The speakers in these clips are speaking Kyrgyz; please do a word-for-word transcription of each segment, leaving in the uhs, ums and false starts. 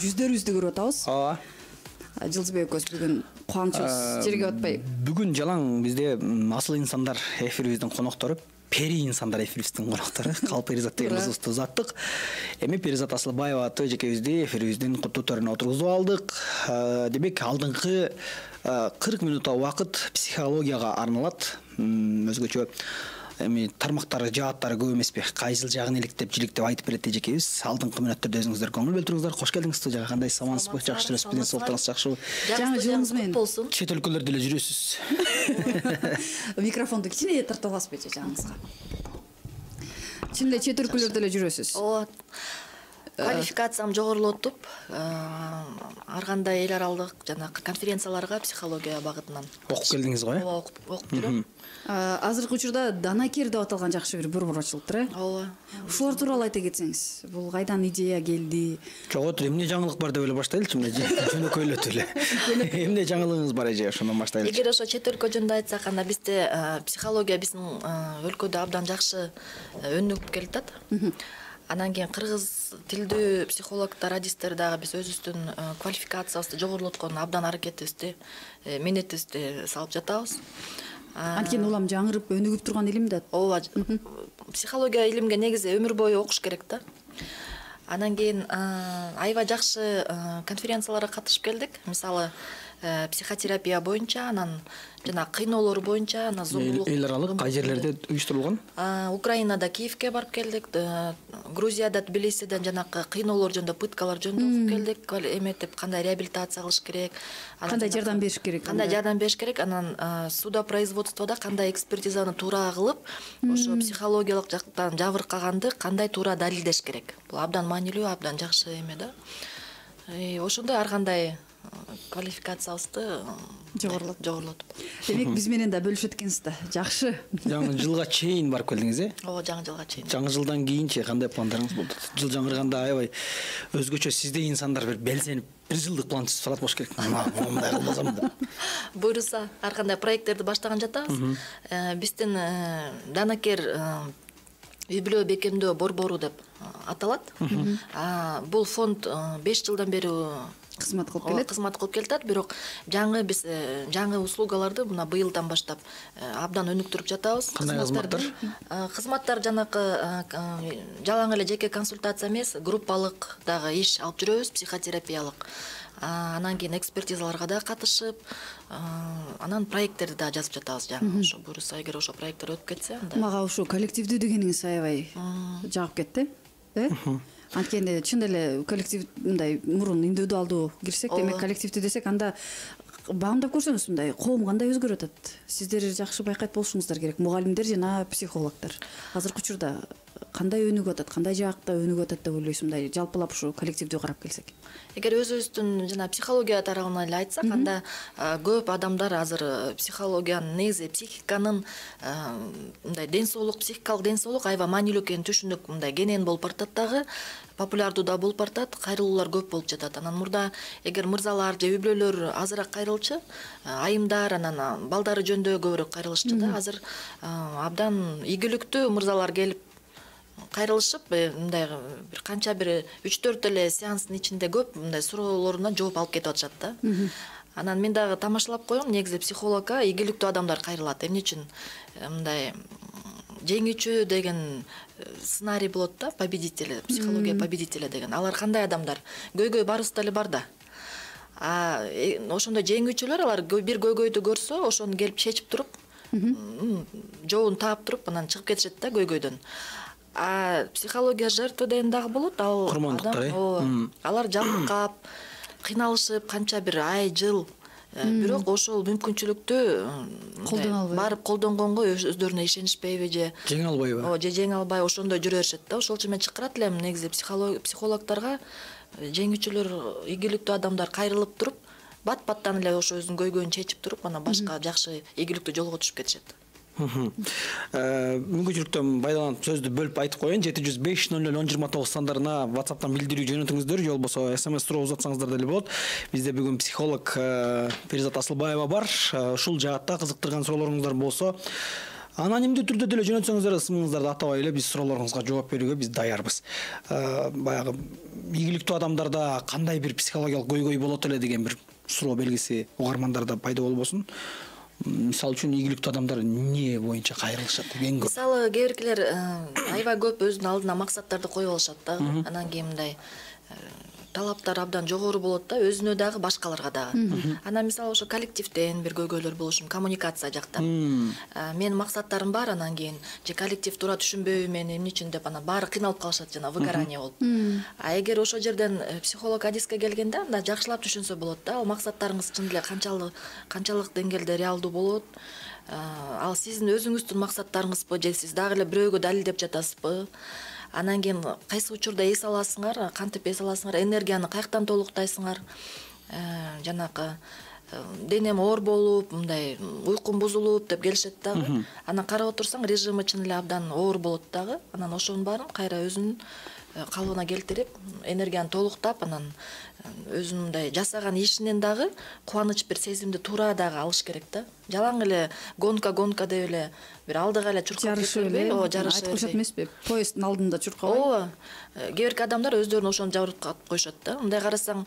жүздөрүбүздү көрүп атабыз. Ооба. Жылдызбек экөөбүз бүгүн кубанычыбыз жерге батпай. Бүгүн жалаң бизде асыл инсандар эфирибиздин коноктору, пери инсандар эфирибиздин коноктору, Кал Перизат деген кызыбызды узаттык. Эми Перизат Асылбаева аты эжекебизди эфирибиздин куттуу төрүнө отургузуп алдык. Демек алдыңкы кырк минутта убакыт психологияга арналат. Өзгөчө эми тармактары, жааттары көп эмеспи? Кайсыл жагын иликтеп, жиликтеп айтып берет эжекебиз. Алдыңкы мүнөттөрдө өзүңүздөр көңүл бөлтүрүңүздөр. Кош келдиңиз студияга. Кандайсыз, амансызбы? Жакшы жүрөсүзбү? Ден соолуктарыңыз жакшыбы? Жаңы жылыңыз менен болсун. Чет өлкөлөрдө эле жүрөсүз. Микрофонду кичине тартып аласызбы жаңыңызга? Чын эле чет өлкөлөрдө эле жүрөсүз. Ооба. Квалификациям жогорулотуп, ар кандай эл аралык жана конференцияларга психология багытынан окуп келдиңиз го, э? Ооба, окуп жүрөм. Азыркы учурда данакер деп аталган жакшы бир борбор ачылыптыр, э? Ооба. Ушулар тууралуу айта кетсеңиз. Бул кайдан идея келди? Жок, эмне жаңылык бар деп эле баштайлычы, эмне жөнөкөйлөтүп эле. Эмне жаңылыгыңыз бар эже, ошондон баштайлычы. Эгер ошо чет өлкө жөнүндө айтсак, анда бизде психология биздин өлкөдө абдан жакшы өнүгүп келатат. Анан кийин кыргыз тилдүү психологдор, радистер дагы биз өзүбүздүн квалификациябызды жогорулоткон абдан аракетибизди, менетибизди салып жатабыз. Анткени улам жаңырып өнүгүп турган илим да. Ооба. Психология илимге негизи өмүр бою окуш керек да. Анан кийин аябай жакшы конференцияларга катышып келдик. Мисалы, психотерапия боюнча, анан жана кыйноолор боюнча, анан зомбулук. Эл аралык кай жерлерде уюштурулган? Украинада, Киевке барып келдик, Грузияда, Тбилисиден жанакы кыйноолор жөнүндө, пыткалар жөнүндө окуп келдик, эметип кандай реабилитация кылыш керек, кандай жардам бериш керек, кандай жардам бериш керек, анан судопроизводстводо кандай экспертизаны туура кылып, ошо психологиялык жактан жабыркаганды кандай туура далилдеш керек. Бул абдан маанилүү, абдан жакшы эме да. Ошондой ар кандай квалификациябызды жогорулотуп. Демек биз менен да бөлүшөт экенсиз да. Жакшы. Жаңы жылга чейин барып келдиңиз, э? Ооба, жаңы жылга чейин. Жаңы жылдан кийинчи кандай пландарыңыз болду? Жыл жаңырганда аябай өзгөчө сизде инсандар бир белсенип, бир жылдык план түзүп салат болуш керек. Мындай кылбасам да. Буйруса, ар кандай проекттерди баштаган жатабыз. Биздин данакер үй бүлө бекемдөө борбору деп аталат. Бул фонд беш жылдан бери кызмат кылып келет. Кызмат кылып келатат, бирок жаңы биз жаңы услугаларды мына быйылдан баштап абдан өнүктүрүп жатабыз. Кандай кызматтар? Кызматтар жанакы жалаң эле жеке консультация эмес, группалык дагы иш алып жүрөбүз, психотерапиялык. Анан кийин экспертизаларга да катышып, анан проекттерди да жазып жатабыз жаңы. Ошо буюрса, эгер ошо проекттер өтүп кетсе, анда. Мага ошо коллективдүү дегениңиз аябай жагып кетти, э? Анткени чын эле коллектив мындай мурун индивидуалдуу кирсек, демек коллективдүү десек, анда баамдап көрсөңүз мындай коом кандай өзгөрүп атат. Сиздер жакшы байкайт болушуңуздар керек, мугалимдер жана психологдор. Азыркы учурда кандай өнүгүп атат, кандай жакта өнүгүп атат деп ойлойсуң, мындай жалпылап ушу коллективдүү карап келсек? Эгер өзүбүздүн жана психология тарабынан эле айтсак, анда көп адамдар азыр психологиянын негизи психиканын мындай ден соолук, психикалык ден соолук аябай маанилүү экенин түшүнүк, мындай кенен болуп бартат дагы, популярдуу да болуп бартат, кайрылуулар көп болуп жатат. Анан мурда эгер мырзалар же үй бүлөлөр азыраак кайрылчу, айымдар, анан балдары жөнүндө көбүрөөк кайрылышчу да. Азыр абдан ийгиликтүү мырзалар келип кайрылышып, мындай бир канча бир үч төрт эле сеанстын ичинде көп мындай суроолоруна жооп алып кетип атышат да. Анан мен дагы тамашалап коем, негизи психологка ийгиликтүү адамдар кайрылат. Эмне үчүн мындай жеңүүчү деген сценарий болот да, победители, психология победителя деген. Алар кандай адамдар? Көйгөй барыбызда эле бар да. А ошондой жеңүүчүлөр, алар бир көйгөйдү көрсө, ошону келип чечип туруп, жообун таап туруп, анан чыгып кетишет да көйгөйдөн. А психология жертва деген дагы болот. Ал курмандыктар, алар жабыркап, кыйналышып, канча бир ай, жыл, бирок ошол мүмкүнчүлүктү колдоно албай, барып колдонгонго өздөрүнө ишенишпейби же жеңе албайбы? Ооба, же жеңе албай ошондой жүрө беришет да. Ошол үчүн мен чакырат элем негизи психологдорго жеңүүчүлөр, ийгиликтүү адамдар кайрылып туруп, бат-баттан эле ошо өзүнүн көйгөйүн чечип туруп, анан башка жакшы ийгиликтүү жолго түшүп кетишет. Мүмкүнчүлүктөн пайдаланып сөздү бөлүп айтып коеюн. жети жүз беш нөл нөл он жыйырма тогуз сандарына WhatsApp'тан билдирүү жөнөтүңүздөр, же болбосо эс эм эс суроо узатсаңыздар деле болот. Бизде бүгүн психолог Перизат Асылбаева бар. Ушул жаатта кызыктырган суроолоруңуздар болсо, Анонимдүү түрдө деле жөнөтсөңүздөр, ысымыңыздарды атабай эле биз суроолоруңузга жооп берүүгө биз даярбыз. Баягы ийгиликтүү адамдарда кандай бир психологиялык көйгөй болот эле деген бир суроо белгиси угармандарда пайда болбосун. Мисалы үчүн ийгиликтүү адамдар эмне боюнча кайрылышат? Эң көп. Мисалы кээ биркилер аябай көп өзүнүн алдына максаттарды коюп алышат да. Анан кийин мындай талаптар абдан жогору болот да, өзүнө дагы, башкаларга дагы. Анан мисалы ошо коллективден бир көйгөйлөр болушу, коммуникация жактан. Менин максаттарым бар, анан кийин же коллектив туура түшүнбөйбү мени, эмне үчүн деп анан баары кыйналып калышат, жана выгорание болуп. А эгер ошол жерден психолог адиске келгенде, анда жакшылап түшүнсө болот да, ал максаттарыңыз чын эле канчалык канчалык деңгээлде реалдуу болот. Ал сиздин өзүңүздүн максаттарыңызбы, же сиз дагы эле бирөөгө далилдеп жатасызбы? Анан кийин кайсы учурда эс аласыңар, кантип эс аласыңар, энергияны каяктан толуктайсыңар, жанагы денем оор болуп, мындай уйкум бузулуп деп келишет дагы. Анан карап отурсаң, режимы чын эле абдан оор болот дагы. Анан ошонун баарын кайра өзүнүн калыбына келтирип, энергияны толуктап, анан өзүнүн мындай жасаган ишинен дагы кубаныч бир сезимди туура дагы алыш керек да. Жалаң эле гонка гонка деп эле бир алдыга эле чуркап кетпей, ооба, жарыша айтып коюшат эмеспи? Поезддин алдында чуркабай. Ооба. Кээ бирки адамдар өздөрүн ошону жабыркап коюшат да. Мындай карасаң,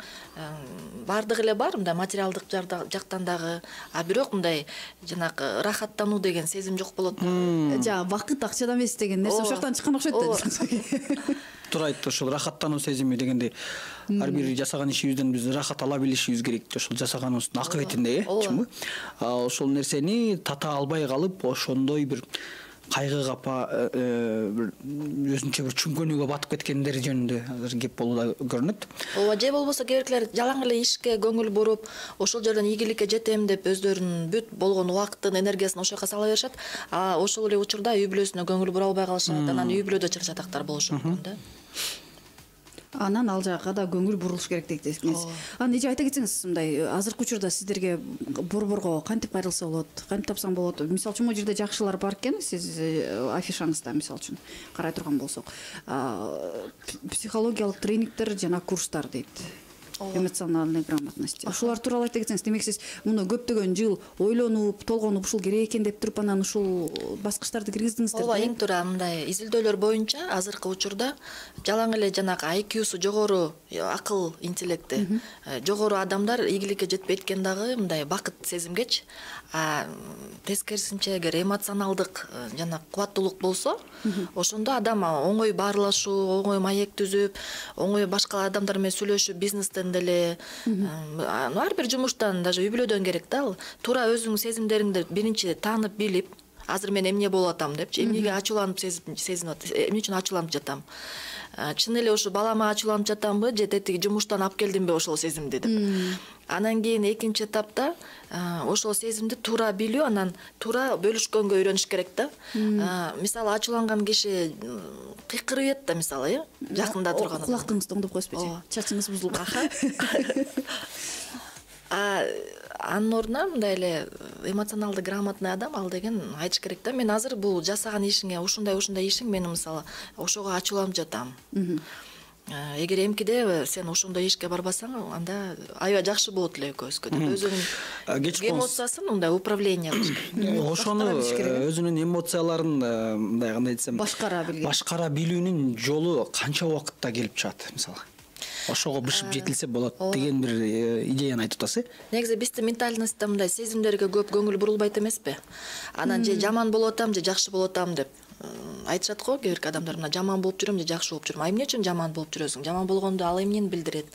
бардыгы эле бар, мындай материалдык жактан дагы, а бирок мындай жанагы рахаттануу деген сезим жок болот. Жана вакыт акчадан эмес деген нерсе ошол жактан чыккан окшойт да. Туура айтты, ошол рахаттануу сезими дегенде ар бир жасаган ишибизден биз рахат ала билишибиз керек. Ошол жасаганыбыздын акыбетинде, э, чынбы? Ошол нерсени тата албай калып, ошондой бир кайгы капа бир өзүнчө бир чүңкөнүүгө батып кеткендер жөнүндө азыр кеп болууда көрүнөт. Ооба, же болбосо кээ биркилер жалаң эле ишке көңүл буруп, ошол жерден ийгиликке жетем деп өздөрүнүн бүт болгон убактын, энергиясын ошол жака сала беришет. А ошол эле учурда үй бүлөсүнө көңүл бура албай калышат. Анан үй бүлөдө чыр-чатактар болушу мүмкүн да. Анан ал жака да көңүл бурулуш керек дегенсиз. Анан эже айта кетсеңиз, мындай азыркы учурда сиздерге борборго кантип кайрылса болот, кантип тапсаң болот? Мисалы үчүн могу жерде жакшылар бар экен, сиз афишаңызда мисалы үчүн карай турган болсок, психологиялык тренингдер жана курстар дейт. Эмоциональная грамотность. Ушулар тууралуу айта кетсеңиз, демек сиз муну көптөгөн жыл ойлонуп, толгонуп, ушул керек экен деп туруп анан ушул баскычтарды киргиздиңиздер. Ооба, эң туура мындай изилдөөлөр боюнча азыркы учурда жалаң эле жанагы ай кьюсу жогору, акыл интеллекти жогору адамдар ийгиликке жетпейт экен дагы мындай бакыт сезимгечи. А тескерисинче эгер эмоционалдык жана кубаттуулук болсо, ошондо адам оңой баарлашуу, оңой маек түзүп, оңой башка адамдар менен сүйлөшүп, бизнестен деле, ар бир жумуштан, даже үй бүлөдөн керек да. Туура өзүңдүн сезимдериңди биринчи таанып билип, азыр мен эмне болуп атам депчи, эмнеге ачууланып сезинип атам, эмне үчүн ачууланып жатам. Чын эле ошо балама ачууланып жатамбы, же тетиги жумуштан алып келдимби ошол сезимди деп. Анан кийин экинчи этапта ошол сезимди туура билүү, анан туура бөлүшкөнгө үйрөнүш керек да. Мисалы ачууланган киши кыйкырып да, мисалы, э, жакында турган адам. Кулактыңызды оңдоп коюшпайбы? Чачыңыз бузулуп. А анын ордуна мындай эле эмоционалдык грамотный адам ал деген айтыш керек да, мен азыр бул жасаган ишиңе, ушундай ушундай ишиң мени мисалы ошого ачууланып жатам. Эгер эмкиде сен ошондой ишке барбасаң, анда аябай жакшы болот эле экөөбүзгө деп өзүнүн эмоциясын мындай управление кылыш керек. Ошону өзүнүн эмоцияларын мындай кандай десем, башкара билүү. Башкара билүүнүн жолу канча убакытта келип чыгат, мисалы? Ошого бышып жетилсе болот деген бир идеяны айтып атасыз. Негизи биздин ментальностьта мындай сезимдерге көп көңүл бурулбайт эмеспи? Анан же жаман болуп атам, же жакшы болуп атам деп айтышат го кээ бирки адамдар, мына жаман болуп жүрөм же жакшы болуп жүрөм. А эмне үчүн жаман болуп жүрөсүң? Жаман болгондо ал эмнени билдирет?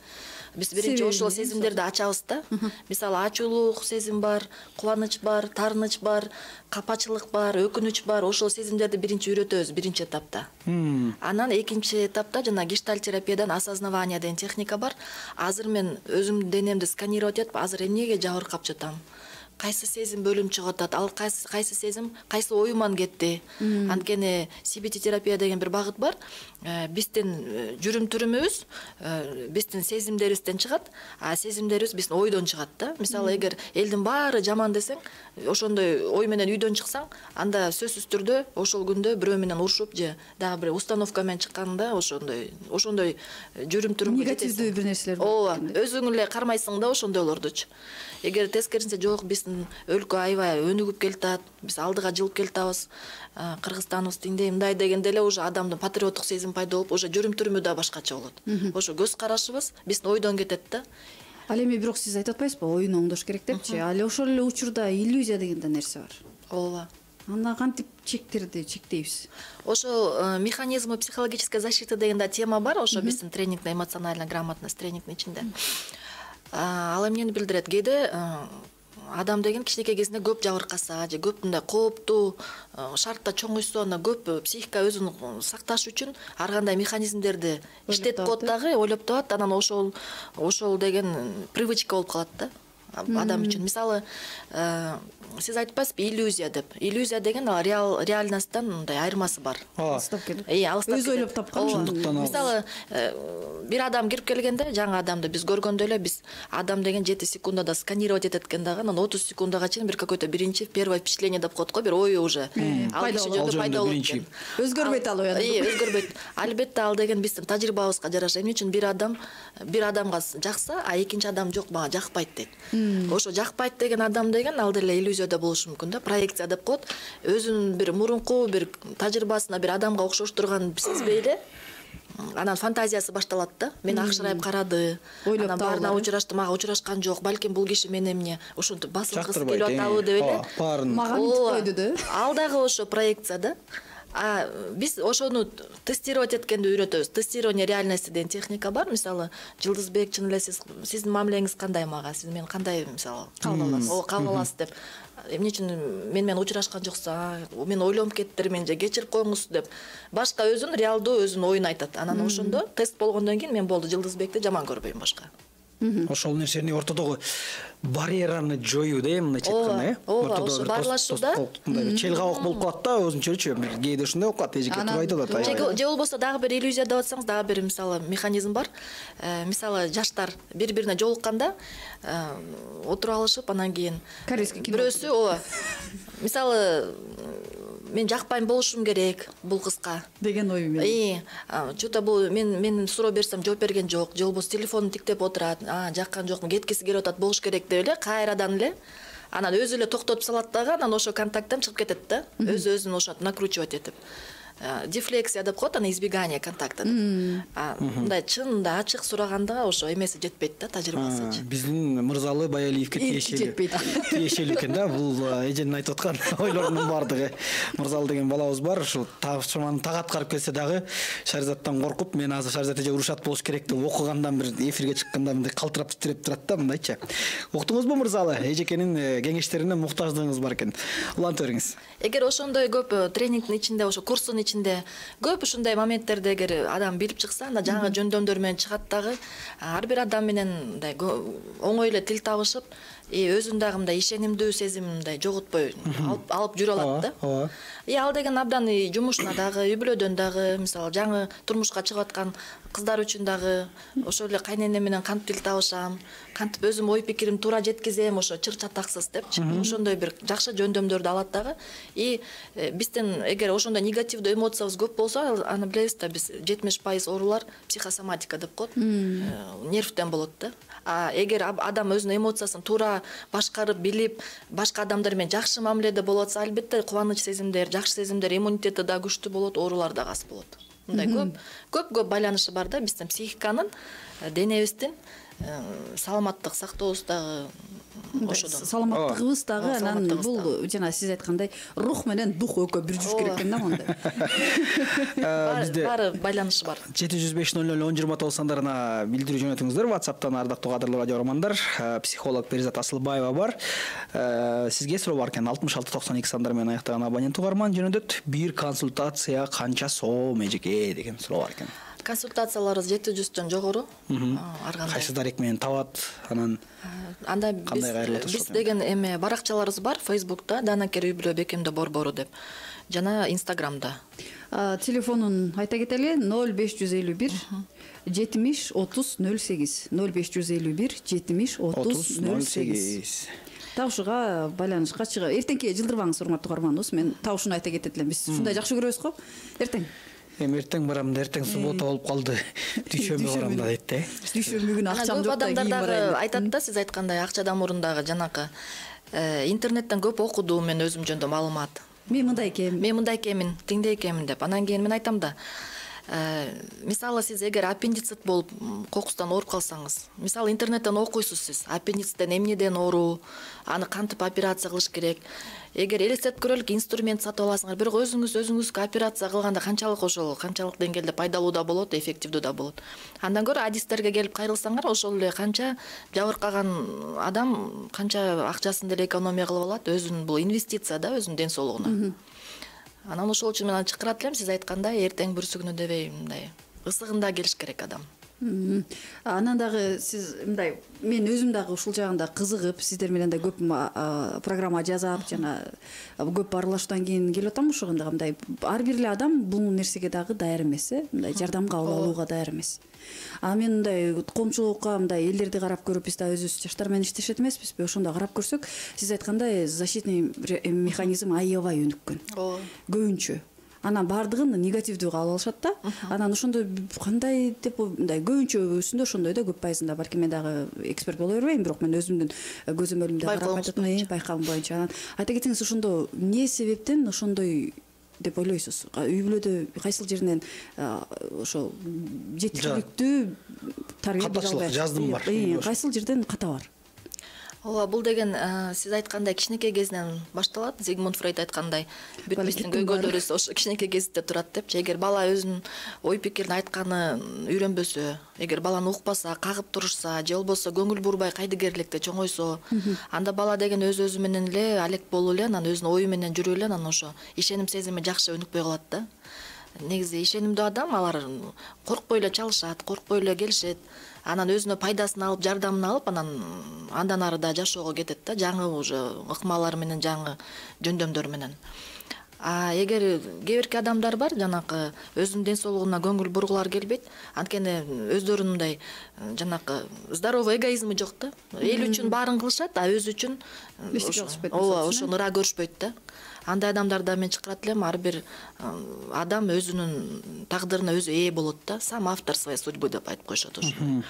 Биз биринчи ошол сезимдерди ачабыз да. Мисалы ачуулук сезим бар, кубаныч бар, таарыныч бар, капачылык бар, өкүнүч бар. Ошол сезимдерди биринчи үйрөтөбүз биринчи этапта. Анан экинчи этапта жана гештальт терапиядан осознавание деген техника бар. Азыр мен өзүмдүн денемди сканировать этип, азыр эмнеге жабыркап жатам? Кайсы сезим бөлүнүп чыгып атат, ал кайсы кайсы сезим кайсы оюман кетти. Анткени си би ти терапия деген бир багыт бар. Биздин жүрүм түрүмүбүз биздин сезимдерибизден чыгат, а сезимдерибиз биздин ойдон чыгат да. Мисалы, эгер элдин баары жаман десең, ошондой ой менен үйдөн чыксаң, анда сөзсүз түрдө ошол күндө бирөө менен урушуп же дагы бир установка менен чыкканда ошондой ошондой жүрүм түрүмгө негативдүү бир нерселер бар. Ооба, өзүң эле кармайсың да ошондойлордучу. Эгер тескерисинче жок, биздин биздин өлкө аябай өнүгүп келатат, биз алдыга жылып келатабыз, Кыргызстаныбыз тиңдей мындай дегенде эле уже адамдын патриоттук сезим пайда болуп, уже жүрүм түрүмү да башкача болот. Ошо көз карашыбыз биздин ойдон кетет да. Ал эми бирок сиз айтып атпайсызбы, оюн оңдош керек депчи? Ал ошол эле учурда иллюзия деген да нерсе бар. Ооба. Анда кантип чектерди чектейбиз? Ошол механизмы психологической защиты деген да тема бар, ошо биздин тренингде эмоциональная грамотность тренингдин ичинде. Ал эмнени билдирет? Кээде адам деген кичинекей кезинде көп жабыркаса же көп мындай кооптуу шартта чоңуйса, ана көп психика өзүн сакташ үчүн ар кандай механизмдерди иштетип коет дагы, ойлоп табат, анан ошол ошол деген привычка болуп калат да адам үчүн. Мисалы, сиз айтпайсызбы иллюзия деп. Иллюзия деген ал реал реальносттан мындай айырмасы бар. Алыстап кетет. Э, алыстап кетет. Өзү ойлоп тапкан. Мисалы, бир адам кирип келгенде, жаңы адамды биз көргөндө эле биз адам деген жети секундада сканировать этет экен дагы, анан отуз секундага чейин бир какой-то биринчи первое впечатление деп коет го, бир ою уже ал киши жөнүндө пайда болот экен. Өзгөрбөйт ал ой. Э, өзгөрбөйт. Албетте ал деген биздин тажрыйбабызга жараша. Эмне үчүн бир адам бир адамга жакса, а экинчи адам жок, мага жакпайт дейт. Ошо жакпайт деген адам деген ал деле иллюзияда болушу мүмкүн да, проекция деп коет. Өзүнүн бир мурунку бир тажрыйбасына бир адамга окшоштурганын сезбей эле анан фантазиясы башталат да. Мени акшырайып карады, анан баарына учурашты, мага учурашкан жок, балким бул киши мени эмне ушинтип басылгысы келип атабы деп эле. Мага мынтип койду да. Ал дагы ошо проекция да. А биз ошону тестировать эткенди үйрөтөбүз. Тестирование реальности деген техника бар. Мисалы, Жылдызбек, чын эле сиз сиздин мамилеңиз кандай мага? Сиз мени кандай, мисалы, кабыл аласыз? О, кабыл аласыз деп. Эмне үчүн мен менен учурашкан жокса, мен ойлонуп кеттирмин же кечирип коюңуз деп. Башка өзүн реалдуу өзүнүн оюн айтат. Анан ошондо тест болгондон кийин мен болду, Жылдызбекти жаман көрбөйм башка. Ошол нерсени ортодогу барьераны жоюу да, мындайча айтканда, э? Ооба, ошо баарлашууда мындай чел кабак болуп калат да, өзүнчөрчү. Кээде ушундай болуп калат, эжеке туруп айтып атат. Же болбосо дагы бир иллюзия деп атсаңыз, дагы бир мисалы механизм бар. Мисалы, жаштар бири-бирине жолукканда отуруп алышып, анан кийин бирөөсү, ооба. Мисалы, мен жакпайм болушум керек бул кызга деген ой менен. Э, чөтө бул мен мен суроо берсем жооп берген жок, же болбосо телефонун тиктеп отурат, а жаккан жокмун, кеткиси келип атат, болуш керек деп эле кайрадан эле анан өзү эле токтотуп салат дагы, анан ошо контакттан чыгып кетет да. Өзү өзүн ошентип накручивать этип. Дефлексия деп коет, аны избегание контакта деп. Мындай чында ачык сураганда ошо эмеси жетпейт да, тажрыйбасычы. Биздин Мырзалы Баялиевке тиешелүү. Тиешелүү экен да, бул эженин айтып аткан ойлорунун баардыгы. Мырзалы деген балабыз бар, ушул тапшырманы так аткарып келсе дагы Шаризаттан коркуп, мен азыр Шаризат эже урушат болуш керек деп окугандан бир эфирге чыкканда мындай калтырап титиреп турат да, мындайча. Уктуңузбу Мырзалы? Эжекенин кеңештерине муктаждыгыңыз бар экен. Улантып бериңиз. Эгер ошондой көп тренингдин ичинде, ошо курстун ичинде көп ушундай моменттерде эгер адам билип чыкса, анда жаңы жөндөмдөр менен чыгат дагы. Ар бир адам менен мындай оңой эле тил табышып, и өзүн дагы мындай ишенимдүү сезимин мындай жоготпой алып алып жүрө алат да. Ооба. И ал деген абдан жумушуна дагы, үй бүлөдөн дагы, мисалы, жаңы турмушка чыгып аткан кыздар үчүн дагы ошол эле кайнене менен кантип тил табышам, кантип өзүм ой пикирим туура жеткизем, ошо чыр чатаксыз депчи. Ошондой бир жакшы жөндөмдөрдү алат дагы. И биздин эгер ошондой негативдүү эмоциябыз көп болсо, аны билебиз да, биз жетимиш пайыз оорулар психосоматика деп коет. Нервтен болот да. А эгер адам өзүнүн эмоциясын туура башкарып, билип, башка адамдар менен жакшы мамиледе болуп атса, албетте кубаныч сезимдер, жакшы сезимдер, иммунитети да күчтүү болот, оорулар да аз болот. Мындай көп көп көп байланышы бар да биздин психиканын, денебиздин саламаттык сактообуздагы ошодон. Саламаттыгыбыз дагы анан бул жана сиз айткандай рух менен дух экөө бир жүрүш керек экен да монда. Бизде баары байланышы бар. жети жүз беш ноль ноль он жыйырма тогуз сандарына билдирүү жөнөтүңүздөр. WhatsApp'тан ардактуу кадырлуу радио угармандар, психолог Перизат Асылбаева бар. Сизге суроо бар экен. алтымыш алты токсон эки сандар менен аяктаган абонент угарман жөнөтөт. Бир консультация канча сом эжеке деген суроо бар экен. Консультацияларыбыз жети жүздөн жогору. Ар кандай. Кайсы дарек менен табат, анан анда биз деген эме баракчаларыбыз бар Facebook'та, Данакер үй бүлө Бекемде Борбору деп, жана Instagram'да. Телефонун айта кетели: ноль беш жүз элүү бир жетимиш отуз ноль сегиз. ноль беш жүз элүү бир жетимиш отуз ноль сегиз. Табышууга байланышка чыга. Эртеңки жылдырбаңыз, урматтуу угарманыбыз. Мен табышууну айта кетет элем. Биз ушундай жакшы көрөбүз го. Эртең. Эми эртең барам да, эртең суббота болуп калды. Дүйшөмбү барам да дейт да. Дүйшөмбү күнү акчам жок да, адамдар дагы айтат да, сиз айткандай акчадан мурун дагы жанакы интернеттен көп окудум мен өзүм жөнүндө маалымат. Мен мындай экенмин. Мен мындай экенмин, тиңдей экенмин деп. Анан кийин мен айтам да, мисалы сиз эгер аппендицит болуп кокустан ооруп калсаңыз, мисалы интернеттен окуйсуз сиз, аппендициттен эмнеден ооруу, аны кантип операция кылыш керек. Эгер элестетип көрөлүк, инструмент сатып аласыңар, бирок өзүңүз өзүңүзгө операция кылганда канчалык ошол канчалык деңгээлде пайдалуу да болот, эффективдүү да болот. Андан көрө адистерге келип кайрылсаңар, ошол эле канча жабыркаган адам канча акчасын деле экономия кылып алат, өзүнүн бул инвестиция да, өзүнүн ден соолугуна. Анан ошол үчүн мен чакырат элем, сиз айткандай, эртең бүрсүгүнө дебей мындай ысыгында келиш керек адам. Анан дагы сиз мындай, мен өзүм дагы ушул жагында кызыгып, сиздер менен да көп программа жасап, жана көп аралашуудан кийин келип атам ошондо мындай ар бир эле адам бул нерсеге дагы даяр эмес, э, мындай жардамга алууга даяр эмес. А мен мындай коомчулукка, мындай элдерди карап көрүп, биз да өзүбүз жаштар менен иштешет эмеспизби? Ошондо карап көрсөк, сиз айткандай защитный механизм аябай өнүккөн. Ооба. Көбүнчө. Анан баардыгын негативдүү кабыл алышат да. Анан ошондо кандай деп мындай көбүнчөсүндө ошондой да, көп пайызында, балки мен дагы эксперт боло бербейм, бирок мен өзүмдүн көзөмөлүмдө карап айтатам, байкагым боюнча. Анан айта кетсеңиз, ошондо эмне себептен ошондой деп ойлойсуз? Үй бүлөдө кайсыл жеринен ошо жетишиликтүү тарбия бере албай, жаздым бар. Кайсыл жерден ката бар? Ооба, бул деген сиз айткандай кичинекей кезинен башталат. Зигмунд Фрейд айткандай, бүт биздин көйгөйлөрүбүз ошо кичинекей кезинде турат депчи. Эгер бала өзүнүн ой пикирин айтканы үйрөнбөсө, эгер баланы укпаса, кагып турушса, же болбосо көңүл бурбай кайдыгерликте чоңойсо, анда бала деген өз өзү менен эле алек болуп эле, анан өзүнүн ою менен жүрүп эле, анан ошо ишеним сезими жакшы өнүкпөй калат да. Негизи ишенимдүү адам, алар коркпой эле чалышат, коркпой эле келишет. Анан өзүнө пайдасын алып, жардамын алып, анан андан ары да жашоого кетет да, жаңы уже ыкмалар менен, жаңы жөндөмдөр менен. А эгер кээ бирки адамдар бар, жанакы өзүнүн ден соолугуна көңүл бургулар келбейт, анткени өздөрүнүн мындай жанакы здоровый эгоизми жок да. Эл үчүн баарын кылышат, а өзү үчүн ооба, ошону ыра көрүшпөйт да. Андай адамдарда мен чакырат элем, ар бир адам өзүнүн тагдырына өзү ээ болот да, сам автор своей судьбы деп айтып коюшат ошондой.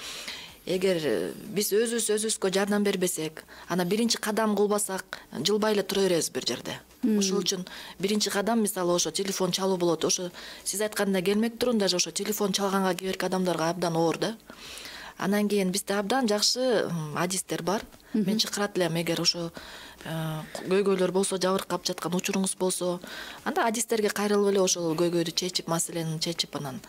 Эгер биз өзүбүз өзүбүзгө жардам бербесек, ана биринчи кадам кылбасак, жылбай эле тура беребиз бир жерде. Ошол үчүн биринчи кадам, мисалы, ошо телефон чалуу болот. Ошо сиз айткандай келмек турун, даже ошо телефон чалганга кээ бирки адамдарга абдан оор да. Анан кийин бизде абдан жакшы адистер бар. Мен чакырат элем, эгер ошо көйгөйлөр болсо, жабыркап жаткан учуруңуз болсо, анда адистерге кайрылып эле ошол көйгөйдү чечип, маселени чечип, анан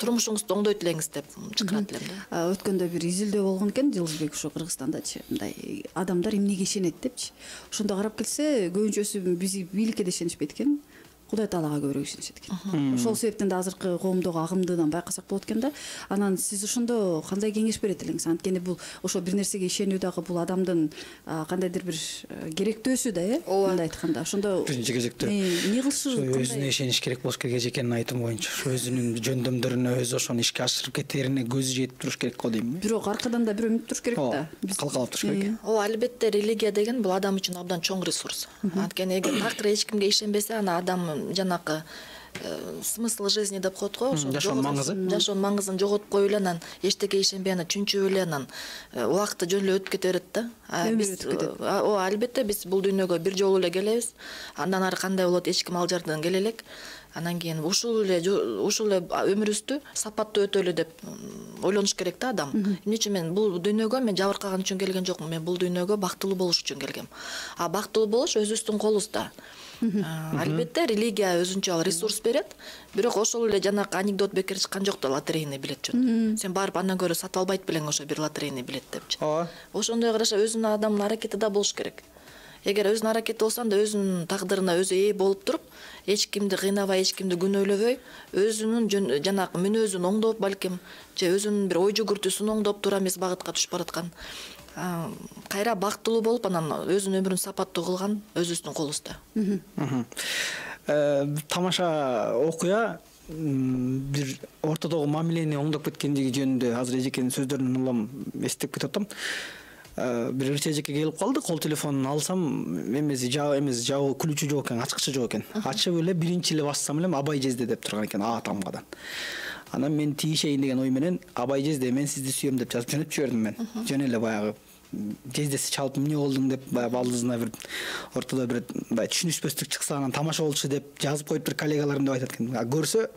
турмушуңузду оңдойт элеңиз деп чакырат элем да. Өткөндө бир изилдөө болгон экен, Жылызбек, ошо Кыргызстандачы, мындай адамдар эмнеге ишенет депчи. Ошондо карап келсе, көбүнчөсү биз бийликке да ишенишпейт экен. Кудай Таалага көбүрөөк ишенишет экен. Ошол себептен да азыркы коомдогу агымдыдан байкасак болот экен да. Анан сиз ошондо кандай кеңеш берет элеңиз? Анткени бул ошо бир нерсеге ишенүү дагы бул адамдын кандайдыр бир керектөөсү да, э? Мындай айтканда. Ошондо биринчи кезекте эмне кылышы, өзүнө ишениш керек болуш керек эжекенин айтымы боюнча. Ошо өзүнүн жөндөмдөрүнө өзү ошону ишке ашырып кетерине көзү жетип туруш керек го дейм. Бирок аркадан да бирөө мүнүп туруш керек да. Калкалап туруш керек. Ооба, албетте религия деген бул адам үчүн абдан чоң ресурс. Анткени эгер такыр эч кимге ишенбесе, ана адам жанакы смысл жизни деп коет го, ошо жашоонун маңызы, жашоонун маңызын жоготуп коюп эле, анан эчтеке ишенбей, анан чүнчүп эле, анан убакыты жөн эле өтүп кете берет да. Биз ооба, албетте биз бул дүйнөгө бир жолу эле келебиз. Андан ары кандай болот, эч ким ал жерден келе элек. Анан кийин ушул эле ушул эле өмүрүбүздү сапаттуу өтөлү деп ойлонуш керек да адам. Эмне үчүн мен бул дүйнөгө мен жабыркаган үчүн келген жокмун, мен бул дүйнөгө бактылуу болуш үчүн келгем. А бактылуу болуш өзүбүздүн колубузда. Албетте религия өзүнчө ресурс берет, бирок ошол эле жанакы анекдот бекер чыккан жок да, лотерейный билет жөн. Сен барып андан көрө сатып албайт белең ошо бир лотерейный билет депчи. Ооба. Ошондой караша өзүнүн адамдын аракети да болуш керек. Эгер өзүнүн аракети болсо, анда өзүнүн тагдырына өзү ээ болуп туруп, эч кимди кыйнабай, эч кимди күнөөлөбөй, өзүнүн жанакы мүнөзүн оңдоп, балким, же өзүнүн бир ой жүгүртүүсүн оңдоп туура эмес багытка түшүп бараткан. Кайра бактылуу болуп, анан өзүнүн өмүрүн сапаттуу кылган өзүбүздүн колубузда. Тамаша окуя бир ортодогу мамилени оңдоп кеткендиги жөнүндө азыр эжекенин сөздөрүнөн улам эстеп кетип атам. Бир ырчы эжеке келип калды, кол телефонун алсам, эмеси жабы эмес, жабы күлүүчү жок экен, ачкычы жок экен. Ачып эле биринчи эле бассам эле Абай жезде деп турган экен, А тамгадан. Анан мен тийишейин деген ой менен Абай жезде, мен сизди сүйөм деп жазып жөнөтүп жибердим мен. Жөн эле баягы жездеси чалып эмне болдуң деп баягы балдызына бир ортодо бир баягы түшүнүшпөстүк чыкса анан тамаша болчу деп жазып коюптур коллегаларым деп айтат экен. Көрсө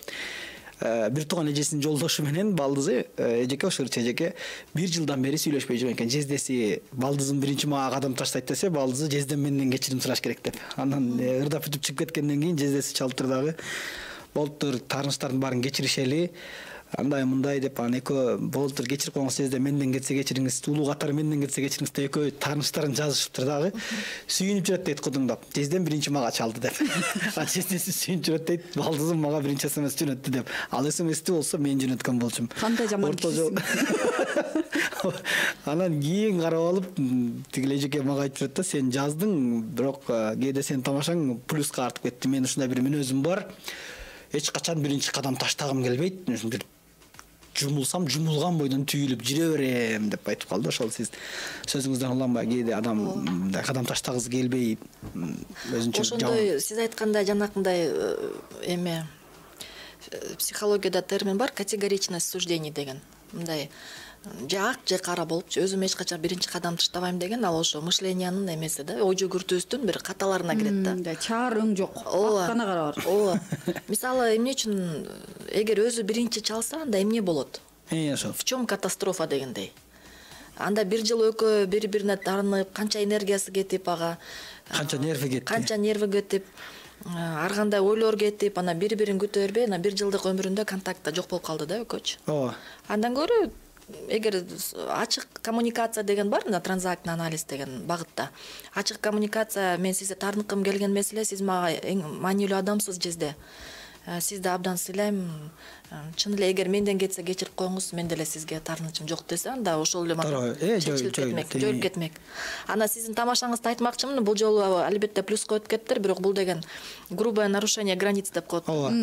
бир тууган эжесинин жолдошу менен балдызы эжеке ошо эжеке бир жылдан бери сүйлөшпөй жүргөн экен. Жездеси балдызым биринчи мага кадам таштайт десе, балдызы жездем менден кечирим сураш керек деп. Анан ырдап бүтүп чыгып кеткенден кийин жездеси чалыптыр дагы болуптур, тааныштардын баарын кечиришели, андай мындай деп анан экөө болуптур, кечирип коюңуз жезде, менден кетсе кечириңиз, улуу катары менден кетсе кечириңиз деп экөө тааныштарын жазышыптыр дагы. Сүйүнүп жүрөт дейт кудуңдап. Жездем биринчи мага чалды деп. А жездеси сүйүнүп жүрөт дейт, балдызым мага биринчи смс жөнөттү деп. Ал смсти болсо мен жөнөткөн болчумун. Кандай жаман кишисиң. Анан кийин карап алып, тигил эжеке мага айтып жүрөт да, сен жаздың, бирок кээде сенин тамашаң плюска артып кетти. Мен ушундай бир мүнөзүм бар. Эч качан биринчи кадам таштагым келбейт. Бир жумулсам жумулган бойдон түйүлүп жүрө берем деп айтып калды. Ошол сиз сөзүңүздөн уланбай кээде адам мындай кадам таштагысы келбей өзүнчө ошондой сиз айткандай жанакындай эме психологияда термин бар, категоричность суждений деген. Мындай же ак же кара болуп, өзүм эч качан биринчи кадам таштабайм деген, ал ошо мышлениянын эмеси да, ой жүгүртүүбүздүн бир каталарына кирет да. Чаар өң жок, ак гана кара бар. Ооба. Мисалы, эмне үчүн эгер өзү биринчи чалса, анда эмне болот? Э, ошо. В чём катастрофа дегендей. Анда бир жыл экөө бири-бирине тарынып, канча энергиясы кетип, ага канча нерви кетти. Канча нерви кетип, ар кандай ойлор кетип, анан бири-бирин күтө бербей, анан бир жылдык өмүрүндө контакт жок болуп калды да экөөчү. Ооба. Андан көрө эгер ачык коммуникация деген бар, мына транзактный анализ деген багытта. Ачык коммуникация, мен сизди таарынткым келген меселе, сиз мага эң маанилүү адамсыз жезде. Сизди абдан сыйлайм. Чын эле эгер менден кетсе кечирип коюңуз, мен деле сизге таарынычым жок десе, анда ошол эле чечилип кетмек, жоюлуп кетмек. Ана сиздин тамашаңызды айтмакчымын, бул жолу албетте плюс коюп кетиптир, бирок бул деген грубое нарушение границ деп коет. Ооба.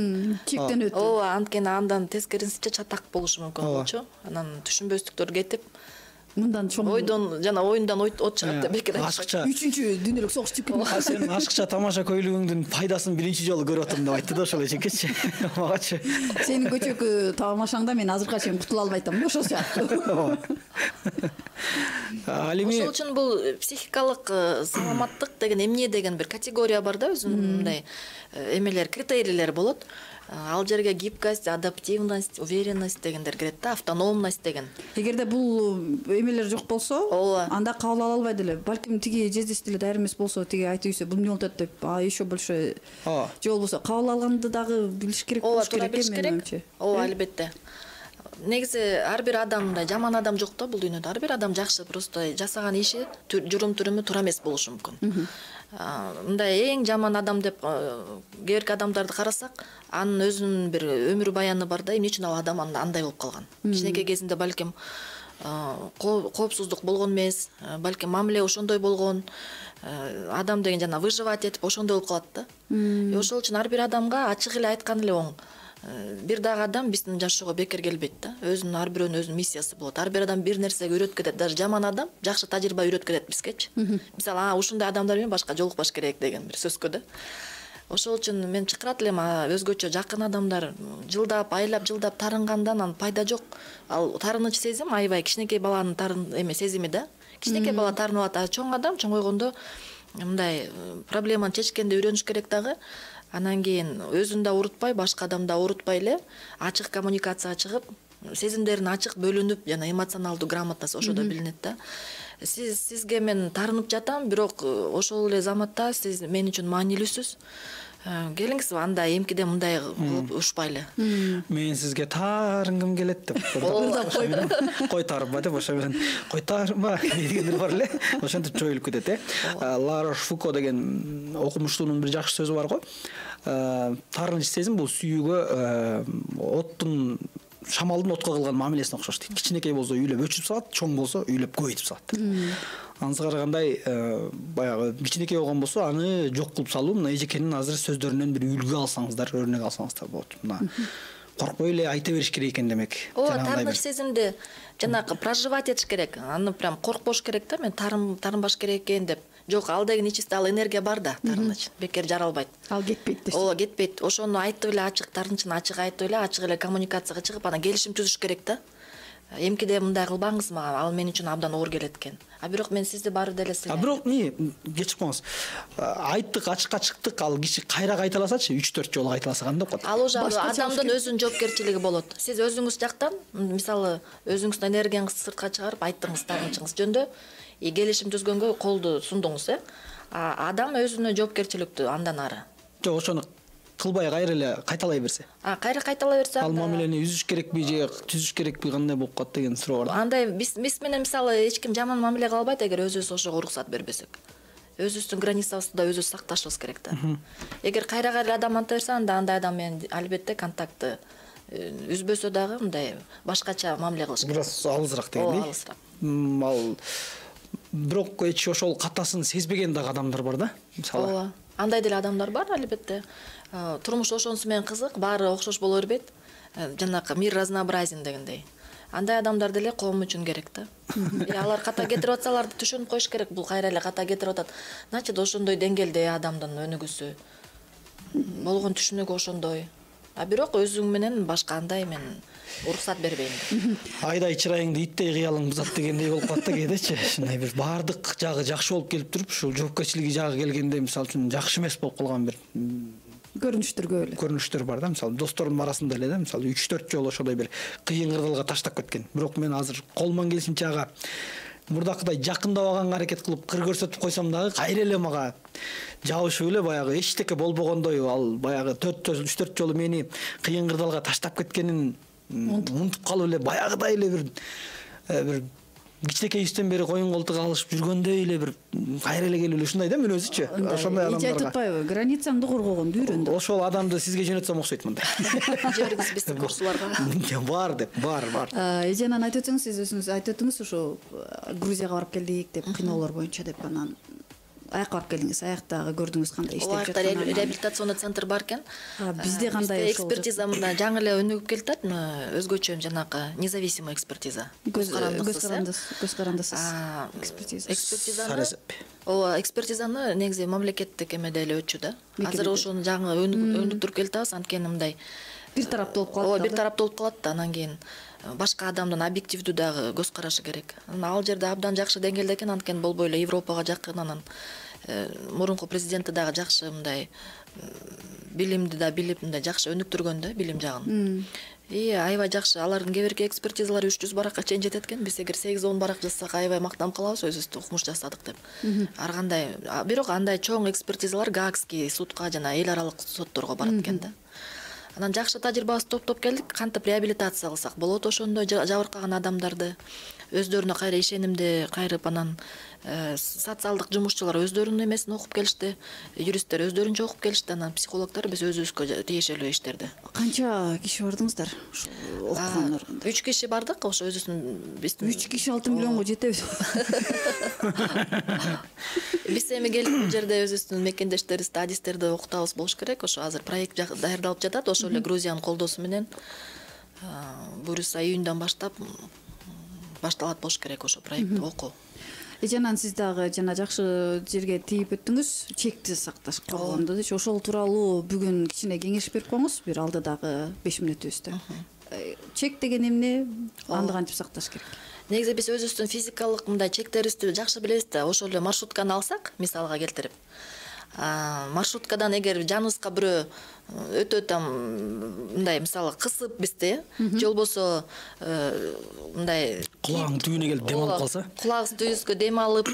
Чектен өтүү. Ооба, анткени андан тескерисинче чатак болушу мүмкүн болчу. Анан түшүнбөстүктөр кетип, мындан чоң ойдон жана оюндан от чыгат деп бекер ашыкча. үчүнчү дүйнөлүк согуш чыгып кетти. Сен ашыкча тамаша көйлөгүңдүн пайдасын биринчи жолу көрүп атам деп айтты да ошол эжекечи. Магачы. Сенин көчөкү тамашаңда мен азыркыга чейин кутула албай атам да ошол сыяктуу. Ал эми ошол үчүн бул психикалык саламаттык деген эмне деген бир категория бар да, өзүнүн мындай эмелер, критерийлер болот. Ал жерге гибкость, адаптивность, уверенность дегендер кирет да, автономность деген. Эгерде бул эмелер жок болсо, анда кабыл ала албайт эле. Балким тиги жездеси деле даяр эмес болсо, тиги айтып ийсе, бул эмне болуп атат деп, а еще больше же болбосо кабыл алганды дагы билиш керек болуш керек эми. Ооба, албетте. Негизи ар бир адам, мындай жаман адам жок да бул дүйнөдө. Ар бир адам жакшы, просто жасаган иши, журум-туруму туура эмес болушу мүмкүн. Мындай эң жаман адам деп кээ бирки адамдарды карасак, анын өзүнүн бир өмүр баяны бар да, эмне үчүн ал адам андай болуп калган. Кичинекей кезинде балким коопсуздук болгон эмес, балким мамиле ошондой болгон, адам деген жана выживать этип ошондой болуп калат да. Ошол үчүн ар бир адамга ачык эле айткан эле оң. Бир дагы адам биздин жашоого бекер келбейт да. Өзүнүн ар бирөөнүн өзүнүн миссиясы болот. Ар бир адам бир нерсеге үйрөтүп кетет. Даже жаман адам жакшы тажрыйба үйрөтүп кетет бизгечи. Мисалы, а ушундай адамдар менен башка жолукпаш керек деген бир сөзгө да. Ошол үчүн мен чакырат элем, өзгөчө жакын адамдар жылдап, айлап, жылдап тарынгандан анан пайда жок. Ал тарыныч сезим аябай кичинекей баланын тарын эме сезими да. Кичинекей бала тарынып атат, чоң адам чоңойгондо мындай проблеманы чечкенди үйрөнүш керек дагы. Анан кийин өзүн да урутпай, башка адамды да урутпай эле ачык коммуникацияга чыгып, сезимдерин ачык бөлүнүп, жана эмоционалдуу грамотность ошодо билинет да. Сиз сизге мен тарынып жатам, бирок ошол эле заматта сиз мен үчүн маанилүүсүз. Келиңиз, анда эмкиде мындай кылып ушпайлы. Мен сизге таарынгым келет деп. Кой тарба деп ошо менен кой тарба дегендер бар эле. Ошентип жоюлуп кетет э. Ларош Фуко деген окумуштуунун бир жакшы сөзү бар го. Таарыныч сезим бул сүйүүгө оттун шамалдын отко кылган мамилесине окшош дейт. Кичинекей болсо үйлөп өчүп салат, чоң болсо үйлөп көбөйтүп салат. Анысына карагандай баягы кичинекей болгон болсо аны жок кылып салуу, мына эжекенин азыр сөздөрүнөн бир үлгү алсаңыздар, өрнөк алсаңыздар болот. Мына коркпой эле айта бериш керек экен демек. Ооба, таарыныч сезимди жанагы проживать этиш керек. Аны прям коркпош керек да, мен тарым тарынбаш керек экен деп. Жок, ал деген ичисинде ал энергия бар да, тарыныч. Бекер жаралбайт. Ал кетпейт дейсиз. Ооба, кетпейт. Ошону айтып эле ачык, тарынычын ачык айтып эле, ачык эле коммуникацияга чыгып, анан келишим түзүш керек да. эмкиде мындай кылбаңыз мага, ал мен үчүн абдан оор келет экен. А бирок мен сизди баары деле сыйлайм. А бирок эмне кечип коңуз. Айттык, ачыкка чыктык, ал киши кайра кайталасачы, үч төрт жолу кайталаса кандай болот? Ал уже адамдын өзүнүн жоопкерчилиги болот. Сиз өзүңүз жактан, мисалы, өзүңүздүн энергияңызды сыртка чыгарып айттыңыз, тагынчыңыз жөндө, и келишим түзгөнгө колду сундуңуз, э? А адам өзүнө жоопкерчиликтүү андан ары. Жок, ошону кылбай кайра эле кайталай берсе. А кайра кайталай берсе, ал мамилени үзүш керекпи же түзүш керекпи, кандай болуп калат деген суроо бар. Андай биз биз менен мисалы эч ким жаман мамиле кыла албайт, эгер өзүбүз ошого уруксат бербесек. Өзүбүздүн границабызды да өзүбүз сакташыбыз керек да. Эгер кайра кайра адам анта берсе, анда андай адам менен албетте контактты үзбөсө дагы мындай башкача мамиле кылыш керек. Бираз алысыраак дегендей. Ооба, алысыраак. Ал бирок эч ошол катасын сезбеген дагы адамдар бар да, мисалы. Ооба. Андай деле адамдар бар албетте. Турмуш ошонусу менен кызык, баары окшош боло бербейт. Жанакы мир разнообразен дегендей. Андай адамдар деле коом үчүн керек да. Алар ката кетирип атсалар түшүнүп коюш керек, бул кайра эле ката кетирип атат. Значит, ошондой деңгээлде адамдын өнүгүүсү болгон түшүнүгү ошондой. А бирок өзүң менен башка андай мен уруксат бербейм. Айдай чырайыңды иттей кыялың бузат дегендей болуп калат да кээдечи. Ушундай бир баардык жагы жакшы болуп келип туруп, ушул жоопкерчилиги жагы келгенде мисалы үчүн жакшы эмес болуп калган бир көрүнүштөр көп эле. Көрүнүштөр бар да, мисалы досторумдун арасында эле да, мисалы үч төрт жолу ошондой бир кыйын кырдалга таштап кеткен. Бирок мен азыр колуман келишинче ага мурдакыдай жакындабаганга аракет кылып кыр көрсөтүп койсом дагы кайра эле мага жабышып эле баягы эчтеке болбогондой, ал баягы төрт үч төрт жолу мени кыйын кырдалга таштап кеткенин унутуп калып эле баягыдай эле бир бир кичинекейибизден бери коюн колтук алышып жүргөндөй эле бир кайра эле келип эле ушундай да, мен өзүчү. Ошондой адамдарга. Эч айтпайбы, границаңды коргогонду үйрөн деп. Ошол адамды сизге жөнөтсөм окшойт мындай. Жибергиз биздин курсуларга. Бар деп, бар, бар. Эженан айтып өтсөңүз, сиз өзүңүз айтып өттүңүз, ошо Грузияга барып келдик деп, кыйноолор боюнча деп, анан аякка барып келдиңиз, аяктагы көрдүңүз кандай иштеп жатканын. Аякта реабилитационный центр бар экен. Бизде кандай ошол экспертиза мында жаңы эле өнүгүп келатат, өзгөчө жанакы независимый экспертиза. Көз карандысыз, көз карандысыз экспертиза. Экспертизаны, ооба, экспертизаны негизи мамлекеттик эмеде эле өтчү да. Азыр ошону жаңы өнүктүрүп келатабыз, анткени мындай бир тараптуу болуп калат. Ооба, бир тараптуу болуп калат да, анан кийин башка адамдын объективдүү дагы көз карашы керек. Ал жерде абдан жакшы деңгээлде экен, анткени болбой эле Европага жакын, анан мурунку президенти дагы жакшы мындай билимди да билип, мындай жакшы өнүктүргөн да билим жагын. И аябай жакшы. Алардын кээ бирки экспертизалары үч жүз баракка чейин жетет экен. Биз эгер сегиз он барак жазсак аябай мактанып калабыз, өзүбүз укмуш жасадык деп. Ар кандай, бирок андай чоң экспертизалар Гаагский судка жана эл аралык сотторго барат экен да. Анан жакшы тажрыйбабызды топтоп келдик, кантип реабилитация кылсак болот ошондой жабыркаган адамдарды, өздөрүнө кайра ишенимди кайрып, анан социалдык жумушчулар өздөрүнүн эмесин окуп келишти, юристтер өздөрүнчө окуп келишти, анан психологдор биз өзүбүзгө тиешелүү иштерди. Канча киши бардыңыздар ошол окугандар? үч киши бардык, ошо өзүбүздүн биздин үч киши алты миллионго жетеби? Биз эми келип бул жерде өзүбүздүн мекендештерибизди, адистерди окутабыз болуш керек. Ошо азыр проект даярдалып жатат, ошо эле Грузиянын колдоосу менен буюрса июньдан баштап башталат болуш керек ошо проектти окуу. Эженан сиз дагы жана жакшы жерге тийип өттүңүз, чекти сакташ коргондучу. Ошол тууралуу бүгүн кичине кеңеш берип коюңуз, бир алдыдагы беш мүнөтүбүздө. Чек деген эмне? Аны кантип сакташ керек? Негизи биз өзүбүздүн физикалык мындай чектерибизди жакшы билебиз да. Ошол эле маршрутканы алсак, мисалга келтирип, маршруткадан эгер жаныбызга бирөө өтө там мындай мисалы кысып бизди, же болбосо мындай кулагың түбүнө келип дем алып калса, кулагыбыз түбүбүзгө дем алып,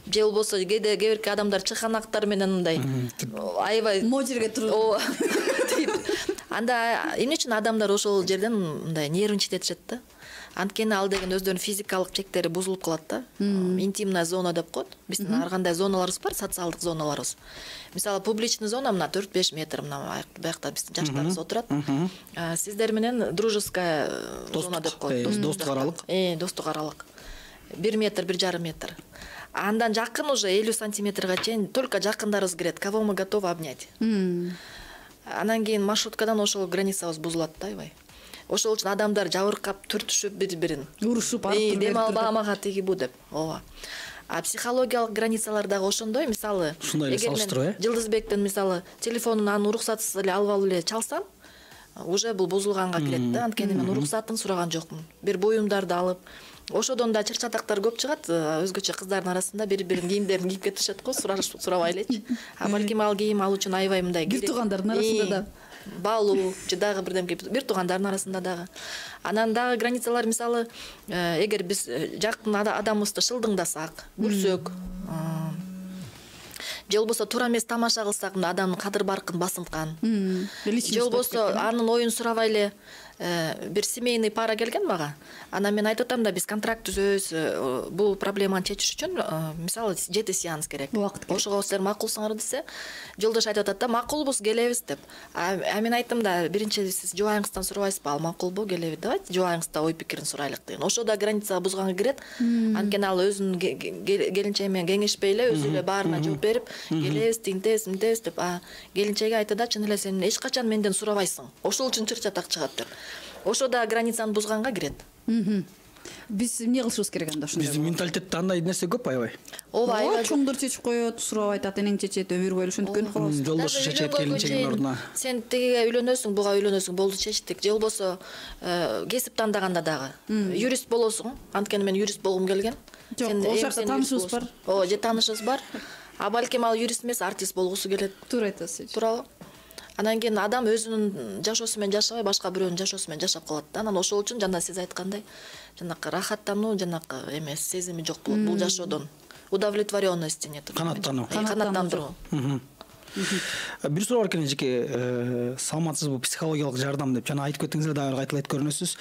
же болбосо кээде кээ бирки адамдар чыханактар менен мындай аябай мо жерге туруп, ооба, анда эмне үчүн адамдар ошол жерден мындай нервничать этишет да. Анткени ал деген өздөрүнүн физикалык чектери бузулуп калат да. Интимная зона деп коет. Биздин ар кандай зоналарыбыз бар, социалдык зоналарыбыз. Мисалы, публичный зона мына төрт беш метр, мына биякта биздин жаштарыбыз отурат. Сиздер менен дружеская зона деп коет. Достук аралык. Э, достук аралык. бир метр, бир жарым метр. Андан жакын уже элүү сантиметрге чейин только жакындарыбыз кирет. Кого мы готовы обнять. Анан кийин маршруткадан ошол границабыз бузулат да, аябай. Ошол үчүн адамдар жабыркап, түртүшүп бири-бирин, урушуп, арып дем албаган мага тиги бу деп. Ооба. А психологиялык границалар дагы ошондой, мисалы, эгер мен Жылдызбектин мисалы телефонун аны уруксатсыз эле алып алып эле чалсам, уже бул бузулганга кирет да. Анткени мен уруксатын сураган жокмун. Бир буюмдарды алып, ошодон да чыр-чатактар көп чыгат. Өзгөчө кыздардын арасында бири-биринин кийимдерин кийип кетишет го, сурабай элечи. А балким ал кийим ал үчүн аябай мындай бир туугандардын арасында да баалуу же дагы бирдемке, бир туугандардын арасында дагы. Анан дагы границалар, мисалы, эгер биз жакын адамыбызды шылдыңдасак, күлсөк, же болбосо туура эмес тамаша кылсак, адамдын кадыр баркын басынткан, же болбосо анын оюн сурабай эле бир семейный пара келген мага. Анан мен айтып атам да, биз контракт түзөбүз, бул проблеманы чечиш үчүн мисалы жети сеанс керек. Ошого силер макулсуңар десе, жолдош айтып атат да, макулбуз, келебиз деп. А мен айттым да, биринчи сиз жубайыңыздан сурабайсызбы, ал макулбу, келеби, давайте жубайыңыздан ой пикирин сурайлык деген. Ошо да граница бузганга кирет. Анткени ал өзүнүн келинчеги менен кеңешпей эле өзү эле баарына жооп берип, келебиз, тинтебиз, мынтебиз деп, а келинчеги айтты да, чын эле сен эч качан менден сурабайсың. Ошол үчүн чыр-чатак чыгат деп. Ошо да границаны бузганга кирет. Биз эмне кылышыбыз керек анда ошондой? Биздин менталитетте андай нерсе көп аябай. Ооба, аябай чоңдор чечип коет, сурабай айтат, энең чечет, өмүр бою ошентип көнүп калабыз. Жолдошу чечет келинчегинин ордуна. Сен тигиге үйлөнөсүң, буга үйлөнөсүң, болду чечтик. Же болбосо кесип тандаганда дагы юрист болосуң. Анткени мен юрист болгум келген. Сен ошол жакта таанышыбыз бар. Ооба, же таанышыбыз бар. А балким ал юрист эмес, артист болгусу келет. Туура айтасыз. Туурабы? Анан кийин адам өзүнүн жашоосу менен жашабай, башка бирөөнүн жашоосу менен жашап калат да. Анан ошол үчүн жана сиз айткандай, жанакы рахаттануу, жанакы эмес сезими жок болот бул жашоодон. Удовлетворенность нет. Канаттануу. Канаттандыруу. Бир суроо бар экен, эжеке, саламатсызбы, психологиялык жардам деп жана айтып кеттиңиздер, дагы кайталайт көрүнөсүз.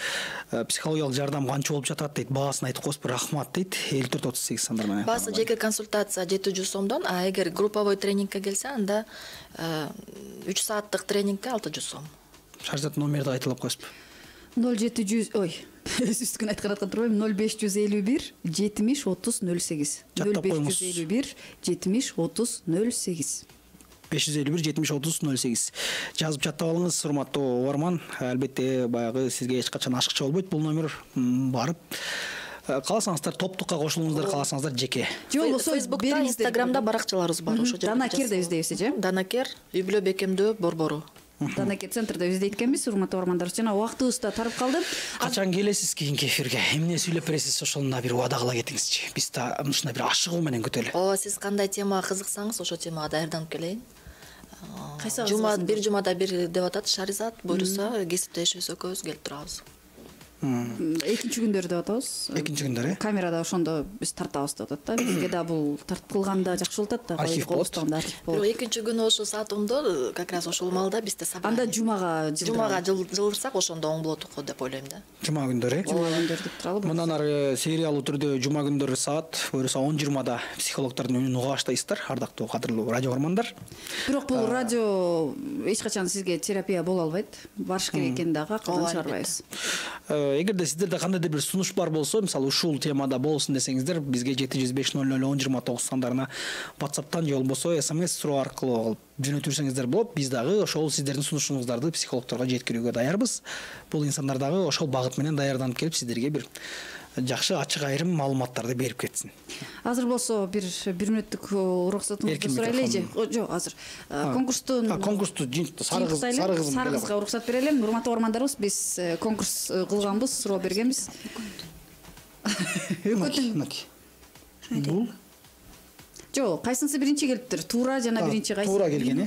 Психологиялык жардам канча болуп жатат дейт, баасын айтып коесузбу, рахмат дейт. элүү төрт отуз сегиз сандар менен. Баасы жеке консультация жети жүз сомдон, а эгер групповой тренингке келсе, анда үч сааттык тренингке алты жүз сом. Шаржат номерди кайталап коесузбу? ноль жети жүз, ой, үстүн айткан аткан турбайм, ноль беш жүз элүү бир жетимиш отуз ноль сегиз. ноль беш жүз элүү бир жетимиш отуз ноль сегиз. беш жүз элүү бир жетимиш отуз ноль сегиз. Жазып чаттап алыңыз, урматтуу угарман. Албетте баягы сизге эч качан ашыкча болбойт бул номер, барып кааласаңыздар топтукка кошулуңуздар, кааласаңыздар жеке. Же болбосо Фейсбукта, Инстаграмда баракчаларыбыз бар, ошо жерде. Данакер деп издейбиз, же? Данакер, үй бүлө бекемдөө борбору. Данакер центрде издейт экенбиз, урматтуу угармандар. Жана убактыбыз да тарып калды. Качан келесиз кийинки эфирге? Эмне сүйлөп бересиз, ошону бир убада кыла кетиңизчи. Биз да ушундай бир ашыгуу менен күтөлү. Ооба, сиз кандай темага кызыксаңыз, ошо темага даярданып келейин. Кайсы жума бир жумада бир деп атат Шаризат, буйруса кесиптешибиз экөөбүз келип турабыз. Экинчи күндөрү деп атабыз. Экинчи күндөрү. Камерада ошондо биз тартабыз деп атат да. Бизге да бул тартылганда жакшы болот да. Архив болот. Бирок экинчи күнү ошо саат ондо, как раз ошол маалда бизде собрание. Анда жумага жумага жылдырсак ошондо оң болот го деп ойлойм да. Жума күндөрү. Жума күндөрү деп туралы. Мындан ары сериялуу түрдө жума күндөрү саат, буюрса он жыйырмада психологдордун үнүн уга баштайсыздар, ардактуу кадырлуу радио угармандар. Бирок бул радио эч качан сизге терапия боло албайт. Барыш керек экенин дагы акылдан чыгарбайбыз. Эгерде сиздерде кандайдыр бир сунуш бар болсо, мисалы ушул темада болсун десеңиздер, бизге жети жүз беш ноль ноль он жыйырма тогуз сандарына WhatsApp'тан же болбосо смс суроо аркылуу жөнөтүрсөңүздөр болот. Биз дагы ошол сиздердин сунушуңуздарды психологдорго жеткирүүгө даярбыз. Бул инсандар дагы ошол багыт менен даярданып келип сиздерге бир жакшы ачык айрым маалыматтарды берип кетсин. Азыр болсо бир бир мүнөттүк уруксатыңызды сурайлы же? Жок, азыр конкурстун конкурсту сары кыз сары кызга уруксат берелим. Урматтуу угармандарыбыз, биз конкурс кылганбыз, суроо бергенбиз. Бул жок, кайсынысы биринчи келиптир? Туура жана биринчи кайсы? Туура келген.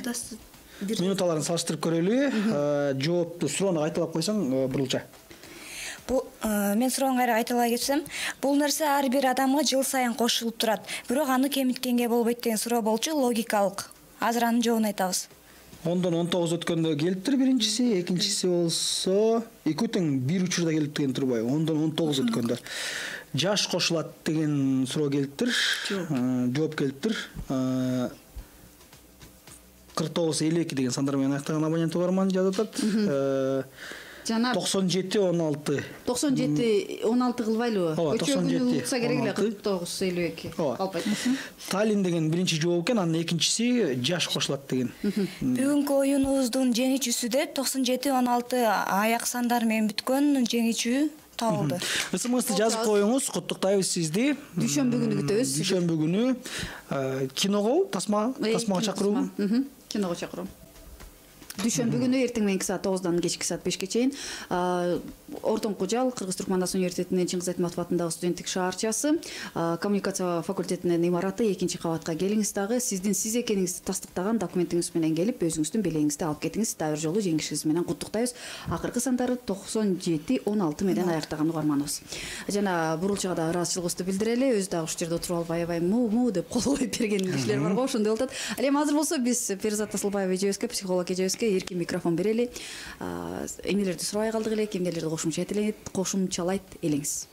Минуталарын салыштырып көрөлү. Жоопту суроону кайталап койсоң, бурулча. Бул мен суроону кайра кайталай кетсем, бул нерсе ар бир адамга жыл сайын кошулуп турат. Бирок аны кемиткенге болбойт деген суроо болчу, логикалык. Азыр анын жообун айтабыз. ондон он тогуз өткөндө келиптир биринчиси, экинчиси болсо экөө тең бир учурда келип деген турбайбы? ондон он тогуз өткөндө. Жаш кошулат деген суроо келиптир. Жооп келиптир. кырк тогуз элүү эки деген сандар менен аяктаган абонент угарман жазып атат. Жана токсон жети он алты. токсон жети он алты кылбайлыбы? Ооба, токсон жети. Утса керек эле кырк тогуз элүү эки. Албайт. Талин деген биринчи жооп экен, анын экинчиси жаш кошулат деген. Бүгүнкү оюнубуздун жеңүүчүсү деп токсон жети он алты аяк сандар менен бүткөн жеңүүчү табылды. СМСти жазып коюңуз, куттуктайбыз сизди. Дүйшөмбү күнү күтөбүз. Дүйшөмбү күнү киного, тасма, тасмага чакыруу. Киного чакыруу. дүйшөмбү күнү эртең мененки саат тогуздан кечки саат бешке чейин Ортоңку жал Кыргыз Түркмандас университетинин Чыңгыз Айтматов атындагы студенттик шаарчасы коммуникация факультетинин имараты экинчи кабатка келиңиз дагы сиздин сиз экениңизди тастыктаган документиңиз менен келип өзүңүздүн белегиңизди алып кетиңиз. Дагы бир жолу жеңишиңиз менен куттуктайбыз. Акыркы сандары токсон жети он алты менен аяктаган угарманыбыз. Жана бурулчуга да ыраазычылыгыбызды билдирели. Өзү дагы ушул жерде отуруп алып аябай му му деп кол коюп берген кишилер бар го, ошондой болуп атат. Ал эми азыр болсо биз Перизат Асылбаева эжебизге, психолог эжебизге эркин микрофон берели. Эмнелерди сурабай калдык эле, кимдерлерди кошумчалайт элеңиз.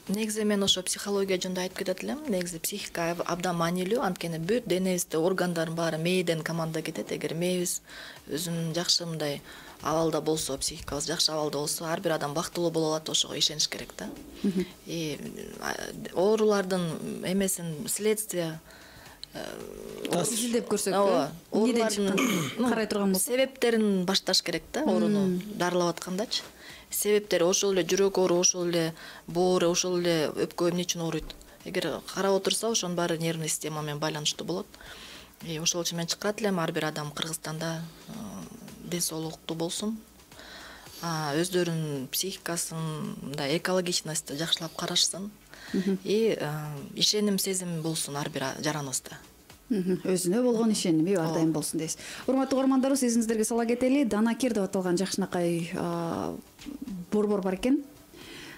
Негизи мен ошо психология жөнүндө айтып кетет элем. Негизи психика абдан маанилүү, анткени бүт денебизде органдардын баары мээден команда кетет. Эгер мээбиз өзүнүн жакшы мындай абалда болсо, психикабыз жакшы абалда болсо, ар бир адам бактылуу боло алат, ошого ишениш керек да. И оорулардын эмесин следствие изилдеп көрсөк, эмнеден чыккан карай турган болсок, себептерин башташ керек да, ооруну дарылап аткандачы. Себептери ошол эле жүрөк оору, ошол эле боору, ошол эле өпкө эмне үчүн ооруйт. Эгер карап отурса, ошонун баары нервный система менен байланыштуу болот. И ошол үчүн мен чыккат элем, ар бир адам Кыргызстанда ден соолуктуу болсун. Өздөрүнүн психикасын, мындай экологичностьты жакшылап карашсын. И ишеним, сезим болсун ар бир жараныбызда. Өзүнө болгон ишеними ар дайым болсун дейсиз. Урматтуу угармандарыбыз, эсиңиздерге сала кетели, Данакер деп аталган жакшынакай борбор бар экен.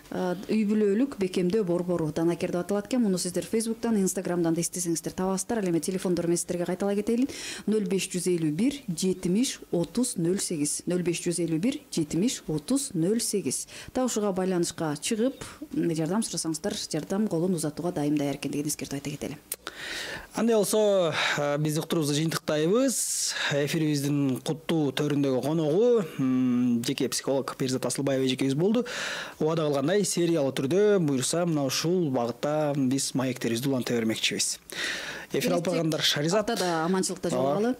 Үй бүлөлүк бекемдөө борбору Данакер деп аталат экен. Муну сиздер Фейсбуктан, Инстаграмдан да издесеңиздер табасыздар. Ал эми телефондор мен сиздерге кайталай кетели. ноль беш жүз элүү бир жетимиш отуз ноль сегиз ноль беш жүз элүү бир жетимиш отуз ноль сегиз. Табышууга байланышка чыгып, жардам сурасаңыздар, жардам колун узатууга дайым даяр экендигин эскертип айта кетели. Андай болсо, биз уктурубузду жыйынтыктайбыз. Эфирибиздин куттуу төрүндөгү коногу жеке психолог Перизат Асылбаева эжекебиз болду. Убада кылгандай сериялуу түрдө буюрса, мына ушул багытта биз маектерибизди уланта бермекчибиз. Эфир алып баргандар Шаризат. Атада аманчылыкта жолугалы.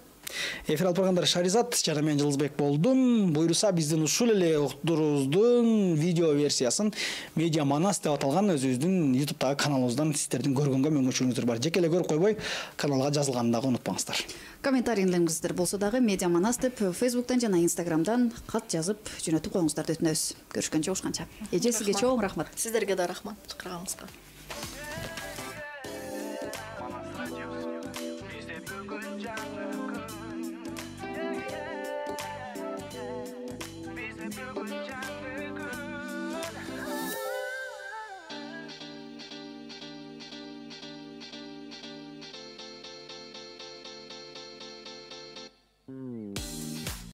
Эфир алып баргандар Шаризат жана мен Жылызбек болдум. Буюрса биздин ушул эле уктуруубуздун видео версиясын Медиа Манас деп аталган өзүбүздүн YouTube'дагы каналыбыздан сиздердин көргөнгө мүмкүнчүлүгүңүздөр бар. Жеке эле көрүп койбой, каналга жазылганын дагы унутпаңыздар. Комментарийлериңиздер болсо дагы Медиа Манас деп Фейсбуктан жана Инстаграмдан кат жазып жөнөтүп коюңуздарды өтүнөбүз. Көрүшкөнчө, ушканча. Эже, сизге чоң рахмат. Сиздерге да рахмат чакырганыңызга.